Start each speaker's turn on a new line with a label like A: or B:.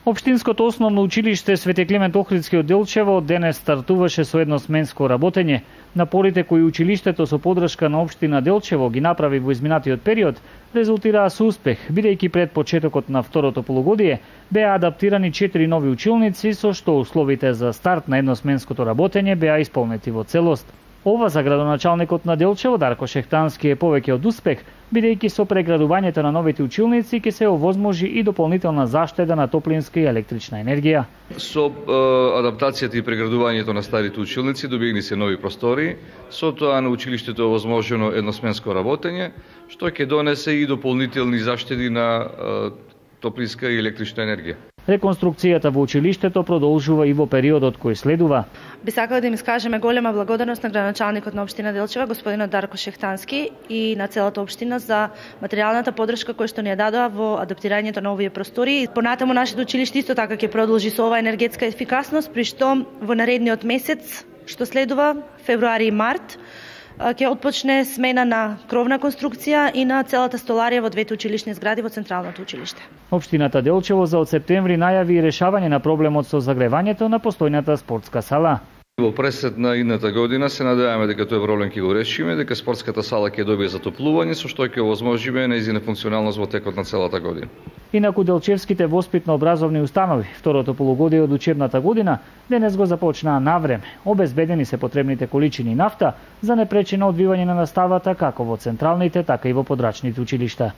A: Општинското основно училиште Свети Климент Охридски од Делчево денес стартуваше со едносменско работење. Напорите кои училиштето со подршка на општина Делчево ги направи во изминатиот период резултираа со успех, бидејќи пред почетокот на второто полугодие беа адаптирани 4 нови училници, со што условите за старт на едносменското работење беа исполнети во целост. Ова за градоначалникот на Делчево Дарко Шехтански е повеќе од успех, бидејќи со преградувањето на новите училници ќе се овозможи и дополнителна заштеда на топлинска и електрична енергија.
B: Со адаптацијата и преградувањето на старите училници добиени се нови простори, со тоа на училиштето е овозможено едносменско работење, што ќе донесе и дополнителни заштеди на топлинска и електрична енергија.
A: Реконструкцијата во училиштето продолжува и во периодот кој следува.
C: Би сакала да им искажеме голема благодарност на градоначалникот на општина Делчево, господинот Дарко Шехтански, и на целата општина за материјалната поддршка која што ни ја дадоа во адаптирањето на овие простори. Понатаму нашето училиште исто така ќе продолжи со оваа енергетска ефикасност, при што во наредниот месец што следува, февруари и март, ќе отпочне смена на кровна конструкција и на целата столарија во двете училишни згради во Централното училиште.
A: Општината Делчево за од септември најави решавање на проблемот со загревањето на постојната спортска сала.
B: Во пресет на идната година се надеваме дека тој проблем ќе го решиме, дека спортската сала ќе добие затоплување, со што ќе овозможиме нејзина функционалност во текот на целата година.
A: Инаку делчевските воспитно-образовни установи второто полугодие од учебната година денес го започнаа навреме. Обезбедени се потребните количини нафта за непречено одвивање на наставата како во централните, така и во подрачните училишта.